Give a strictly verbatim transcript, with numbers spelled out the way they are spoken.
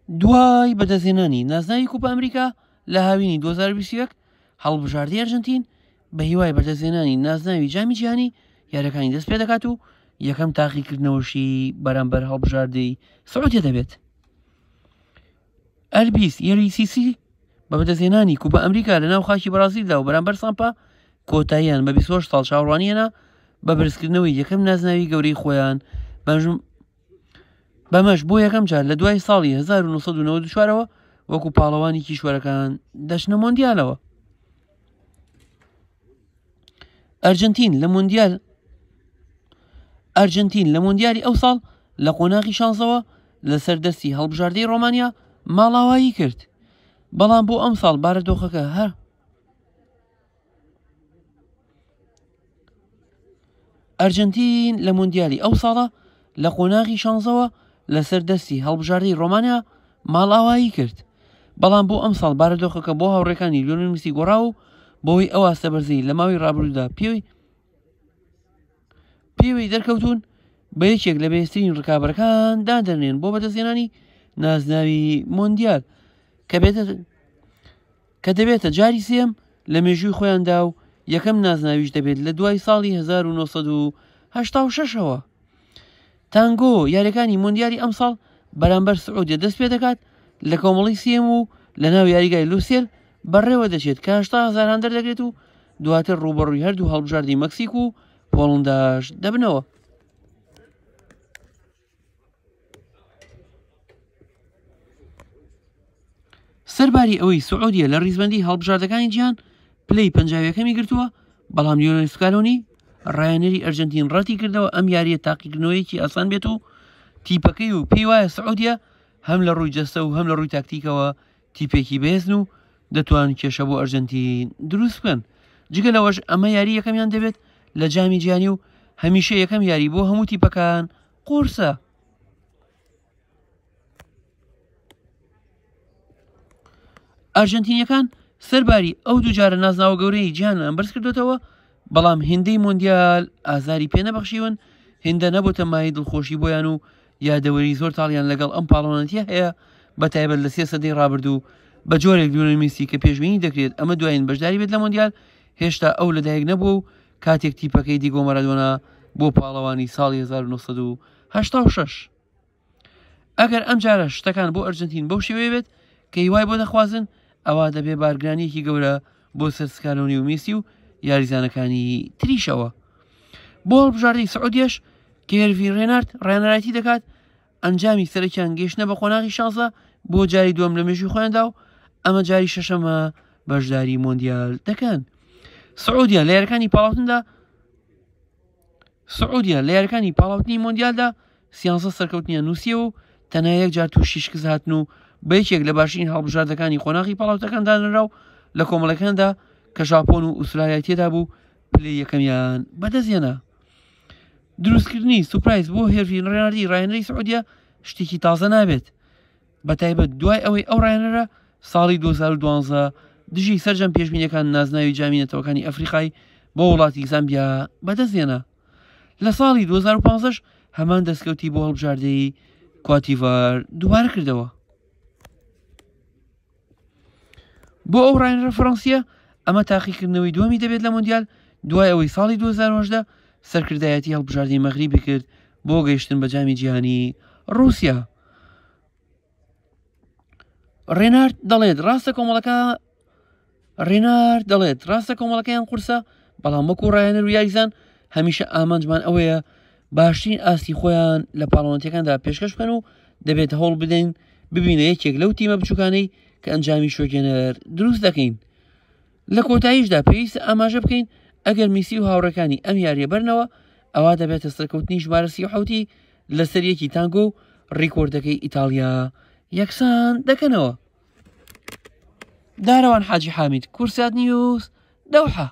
دوای بەدەستهێنانی نازناوی کوپا ئەمریکا لە هاوینی دوو هەزار و بیست و یەک، هەڵبژاردەی ئەرجەنتین بە هیوای بەدەستهێنانی نازناوی جامی جیهانی یاریەکانی دەست پێ دەکات و یەکەم تاقیکردنەوەشی بەرامبەر هەڵبژاردەی سعودیە دەبێت. ئەلبیس یەریسیسی بە بەدەستهێنانی کوپا ئەمریکا لە ناو خاکی بەرازیلدا و بەرامبەر سامپا کۆتاییان بە بیست و هەشت ساڵ چاوەڕوانی هێنا بە بەرزکردنەوەی یەکەم نازناوی گەورەی خۆیان، بەمەش بۆ یەکەم جار لە دوای ساڵی هەزار و نۆ سەد و نەوەد و چوارەوە وەکو پاڵەوانی کیشوەرەکان دەچنە مۆندیالەوە. ئەرجەنتین لە مۆندیال ئەرجەنتین لە مۆندیالی ئەو ساڵ لە قۆناغی شانزەوە لەسەر دەستی هەڵبژاردەی ڕۆمانیا ماڵاوایی کرد، بەڵام بۆ ئەم ساڵ بارودۆخەکە هەر ئەرجەنتین لە مۆندیالی ئەو ساڵە لە قۆناغی شانزەوە لەسەر دەستی هەڵبژاردەی ڕۆمانیا ماڵاوایی کرد، بەڵام بۆ ئەم ساڵ بارودۆخەکە بۆ هاوڕێکانی لیۆنێل میسی گۆڕا و بەهۆی ئەو ئاستە بەرزەی لە ماوەی ڕابردوودا پێوەی پێوەی دەرکەوتون بە یەکێک لە بەهێزترین ڕکابەرەکان دادەنێن بۆ بەدەستهێنانی نازناوی مۆندیال کە بێتە کە دەبێتە جاری سێم لە مێژووی خۆیاندا و یەکەم نازناویش دەبێت لە دوای ساڵی هەزار و نۆ سەد و هەشتا و شەشەوە. تانگۆ یاریەکانی مۆندیالی ئەمساڵ بەرامبەر سعودیە دەست پێ دەکات لە کۆمەڵی سێم و لە ناو یاریگای لوسێل بەڕێوە دەچێت کە هەشتا هەزار هاندەر دەگرێت و دواتر ڕووبەڕووی هەردوو هەڵبژاردی مەکسیک و پۆڵنداش دەبنەوە. سەرباری ئەوەی سعودیە لە ڕیزبەندی هەڵبژاردەکانی جیهان پلەی پەنجاویەکەمی گرتووە، بەڵام لیۆنێل سکالۆنی ڕایەنەری ئەرجەنتین ڕەتی کردەوە ئەم یاریە تاقیکردنەوەیەکی ئاسان بێت و تیپەکەی و پێی وایە سعودیە هەم لە ڕووی جەستە و هەم لە ڕووی تاکتیکەوە تیپێکی بەهێزن و دەتوان کێشە بۆ ئەرجەنتین دروست بکەن. جگە لەوەش ئەمە یاری یەکەمیان دەبێت لە جامی جیهانی و هەمیشە یەکەم یاری بۆ هەموو تیپەکان قورسە. ئەرجەنتینیەکان سەرباری ئەو دووجارە نازناوە گەورەی جیهانیان بەرز کردوێتەوە، بەڵام هێندەی مۆندیال ئازاری پێ نەبەخشیون، هێندە نەبووتە مایەی دڵخۆشی بۆیان و یادەوەری زۆر تاڵیان لەگەڵ ئەم پاڵەوانەتیە هەیە، بە تایبەت لە سێ سەدەی ڕابردوو بە جۆرێک لیۆنێل میسی کە پێشبینی دەکرێت ئەمە دوایین بەشداری بێت لە مۆندیال، هێشتا ئەو لەدایک نەبووە و کاتێک تیپەکەی دیگۆ مارادۆنا بۆ پاڵەوانی ساڵی هەزار و نۆ سەد و هەشتا و شەش. ئەگەر ئەم جارە شتەکان بۆ ئەرجەنتین بەو شێوەیە بێت کە هیوای بۆ دەخوازن، ئەوە دەبێت بارگرانیەکی گەورە بۆ سەر سکالۆنی و میسی و یاریزانەکانی تریشەوە. بۆ هەڵبژاردەی سعودیەش کە هێرڤی ڕێنارد ڕێنەرایەتی دەکات، ئەنجامی سەرەکیان گەیشتنە بە قۆناغی شانزە بۆ جاری دووەم لە مێژووی خۆیاندا و ئەمە جاری شەشەمە بەشداری مۆندیال دەکەن. سعودیە لە یاریەکانی پاڵاوتندا سعودیە لە یاریەکانی پاڵاوتنی مۆندیالدا سیانزە سەرکەوتنیان نووسیەوە و تەنها یەک جار تووشی شکست هاتن و بە یەکێک لە باشترین هەڵبژاردەکانی قۆناغی پاڵاوتەکان دانرا و لە کۆمەڵەکاندا کە ژاپۆن و ئوسترالیای تێدا بوو پلەی یەکەمیان بەدەستهێنا. دروستکردنی سوپرایز بۆ هێرڤی ڕێناردی ڕاهێنەری سعودیە شتێکی تازە نابێت، بە تایبەت دوای ئەوەی ئەو ڕاهێنەرە ساڵی دوو هەزار و دوازدە دژی سەرجەم پێشبینیەکان نازناوی جامی نەتەوەکانی ئەفریقای بۆ وڵاتی زامبیا بەدەستهێنا. لە ساڵی دوو هەزار و پازدە هەمان دەستکەوتی بۆ هەڵبژاردەی کواتیڤار دووبارە کردەوە. بۆ ئەو ڕاهێنەرە فەرەنسیە ئەمە تاقیکردنەوەی دووەمی دەبێت لە مۆندیال دوای ئەوەی ساڵی دوو هەزار و هەژدە سەرکردایەتی هەڵبژاردەی مەغریبی کرد بۆ گەیشتن بە جامی جیهانی ڕووسیا. ڕێنارد دەڵێت ڕاستە کۆمەڵەکە ڕێنارد دەڵێت ڕاستە کۆمەڵەکەیان قورسە، بەڵام وەکو ڕاهێنەر و یاریزان هەمیشە ئامانجمان ئەوەیە باشترین ئاستی خۆیان لە پاڵەوانەتیەکاندا پێشکەش بکەن و دەبێت هەوڵ بدەین ببینە یەکێک لەو تیمە بچووکانەی کە ئەنجامی شۆکێنەر دروست دەکەین. لە کۆتاییشدا پێویستە ئاماژە بکەین ئەگەر میسی و هاوڕێکانی ئەم یاریە بەرنەوە ئەوە دەبێتە سەرکەوتنی ژمارە سی و حەوتی لەسەر یەکی تانگۆ و ڕیکۆردەکەی ئیتاڵیا یەکسان دەکەنەوە. دارەوان حاجی حامید، کوردسات نیوز، دەوحە.